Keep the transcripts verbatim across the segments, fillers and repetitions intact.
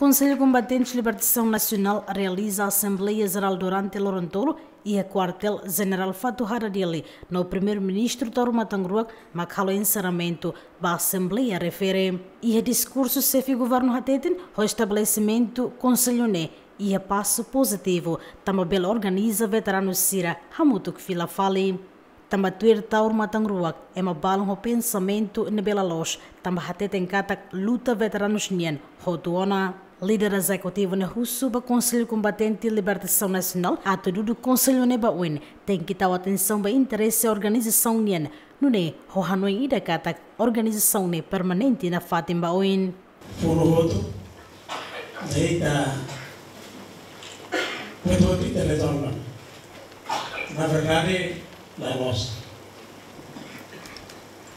Konsellu Kombatentes Libertasaun Nasionál realiza Asembleia Jerál durante loron tolu iha Kuartél Jenerál Fatuhada, Dili, no Primeiru-Ministru Taur Matan Ruak mak halo enserramentu ba asembleia refere. Iha diskursu, xefe governu hateten ho estabelesimentu konsellu ne'e iha pasu pozitivu, tanba bele organiza veteranu sira hamutuk fila fali. Tanba tuir Taur Matan Ruak, ema balun ho pensamentu ne'ebé la loos, tanba hateten katak luta veteranus nian hotu ona. Líder ezekutivu ne'e husu ba Konsellu Kombatente Libertasaun Nasionál atu dudu konsellu ne'e ba oin, tenke tau atensaun ba interese organizasaun nian, nune'e ho hanoin ida katak organizasaun ne'e permanente nafatin ba oin. Funu hotu, deita, hotu-hotu ita retorna. Na verdade, la loos.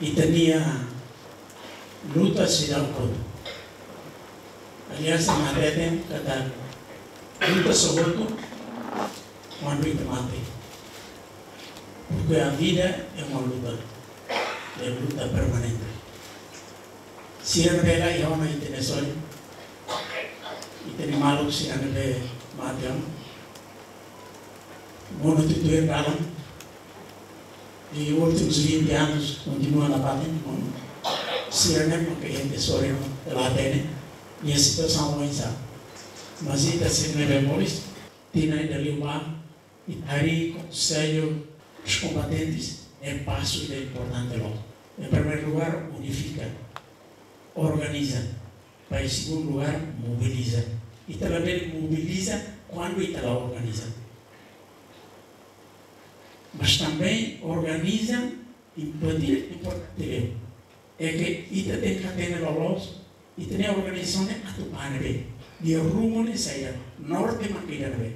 Ita-nia luta seidauk hotu. Aliás, ema hateten katak luta só hotu kuandu ita mate. Porque a vida é uma luta. É luta permanente. Sira ne'ebé la iha ona, ita-nia sorin, ita-nia maluk sira ne'ebé mate ona. Monu tutuir dalan. E últimos vinte anos kontinua nafatin, monu. Sira ne'e maka ita-nia sorin la hatene nia situasaun oinsá. Mas ita sira ne'ebé moris, tinan ida liubá, ita harii Konsellu dos Kombatentes, é pasu ida importante loos. Em primeiro lugar, unifika, organiza. Para, em segundo lugar, mobiliza. Ita labele mobiliza kuandu ita la organiza. Mas também organiza, importante, importante, é que ita tenke hatene loloos, ita-nia organizasaun ne'e atu bá ne'ebé, nia rumo ne'e saida, norte mak ida ne'ebé.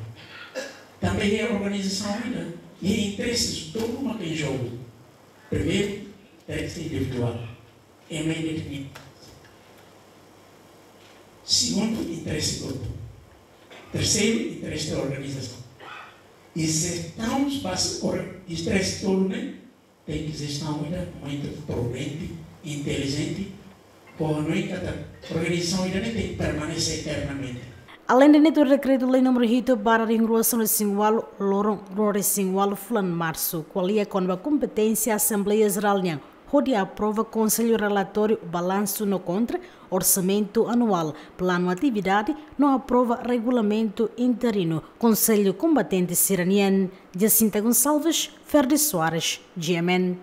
Tanba iha organizasaun ida, iha interese tolu mak iha jogu. Primeiru, interese individuál, ema ida-nia. Segundu, interese grupu. Terseiru, interese organizasaun. E se estamos pas or-, interese tolu ne'e, tenke jestaun ida muito prudente, inteligente, para não encatar organizasaun ida ne'e tenke permanece eternamente. Alende ne'e, tuir dekretu-lei númeru hitu barra rihun rua sanulu-resin-ualu, loron rua-resin-ualu fulan Marsu, ko'alia kona-ba kompeténsia Asembleia Jerál nian hodi aprova Konsellu relatóriu balansu no kontra, orsamentu anuál, planu atividade, no aprova regulamentu interinu Konsellu Kombatente sira-nian. Jacinta Gonçalves, Ferdi Soares, G M N.